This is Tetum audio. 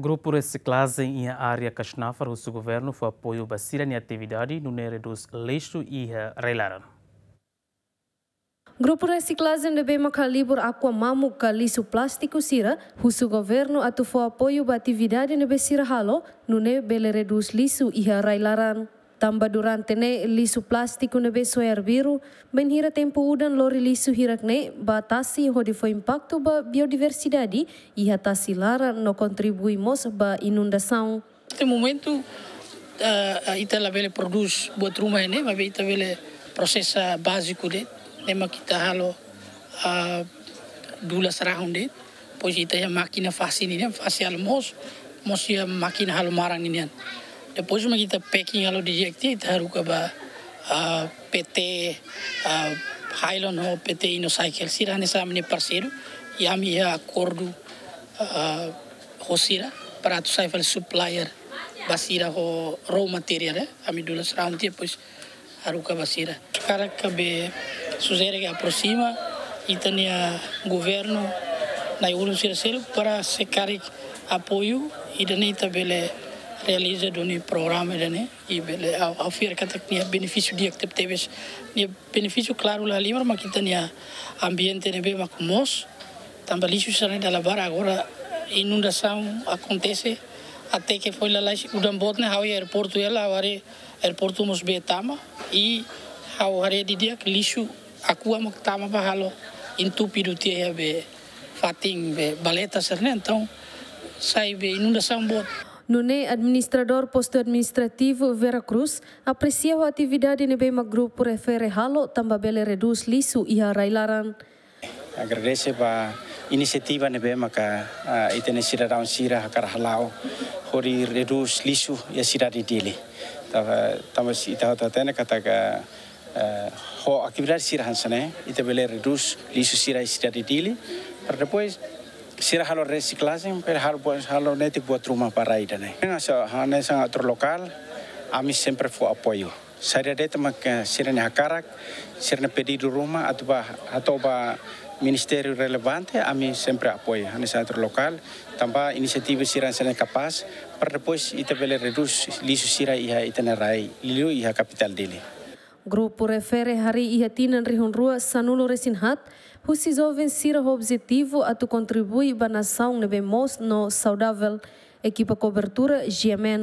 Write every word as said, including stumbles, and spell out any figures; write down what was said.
Grupu resiklajen iha área Kasnafar husu governu fó apoiu ba sira-nia atividade nune'e redús lixu iha rai-laran. Grupu resiklajen ne'ebé maka halibur akua mamuk ka lixu plástiku sira husu governu atu fó apoiu ba atividade ne'ebé sira halo nune'e bele redús lixu iha rai-laran. Tanba durante ne'e lixu plástiku ne'ebé soe arbiru, bainhira tempu udan lori lixu hirak-ne'e ba tasi hodi fó impaktu ba biodiversidade iha tasi laran no kontribui mós ba inundasaun. Neste momentu, ah, ah, ita labele prodús buat ruma ne'e, maibé ita bele prosesa báziku de'it, ne'e mak ita halo, ah, dulas rahun de'it. Depois ita iha mákina fase ninian, fase halo moos, moos iha mákina halo maran ninian. Depois mak ita packing halo didi'ak tiha, ita haruka ba, ah, P T, ah, Hylon ho P T Inocycle. Sira hanesan ami-nia parseiru, i ami iha akordu, ah, ho sira para atu sai fali supplier ba sira ho raw material, eh. Ami dulas rahun tiha, depois haruka ba sira. Hakarak be sujere ke aproxima ita-nia governu na'in-ulun sira seluk para se karik apoiu, ida-ne'e ita bele realiza duni programa ida-ne'e, i bele ha'u, ha'u fiar katak nia benefísiu di'ak tebetebes, nia benefísiu klaru la halimar mak ita-nia ambiente ne'ebé mak moos, tanba lixu sira-ne'e dala barak agora inundasaun akontese, até ke foin lalais udan boot ne'e ha'u iha aeroportu hela, ha'u haree aeroportu mós bee tama, i ha'u haree didi'ak lixu akua mak tama ba halo entúpidu tiha iha be fatin be valeta sira-ne'e, entaun sai be inundasaun boot. Nune'e administradór postu administrativu Vera Cruz apresia ho atividade ne'ebé mak grupu refere halo tanba bele redús lixu iha rai-laran. Agradese ba inisiativa ne'ebé maka, ah, ita-nia sidadaun sira hakarak hala'o hodi redús lixu iha sidade Dili. Tanba, tanba se ita hotu hatene katak, eh, ho atividade sira hanesan ne'e, ita bele redús lixu sira iha sidade Dili, para depois sira halo resiklajen, para halo buat, halo netik buat ruma ba rai ida-ne'e. Hanesan, hanesan ator lokál, ami sempre fó apoiu. Saida de'it mak sira-nia hakarak, sira-nia pedidu ruma, atu ba, atu ba ministériu relevante, ami sempre apoiu. Hanesan ator lokál, tanba inisiativa sira hanesan ne'e kapás, para depois ita bele redús lixu sira iha ita-nia rai, liuliu iha kapitál Dili. Grupu refere harii iha tinan rihun rua sanulu resin haat, husi joven sira ho objetivu atu kontribui ba nasaun ne'ebé moos no saudavel. Ekipa kobertura, G M N.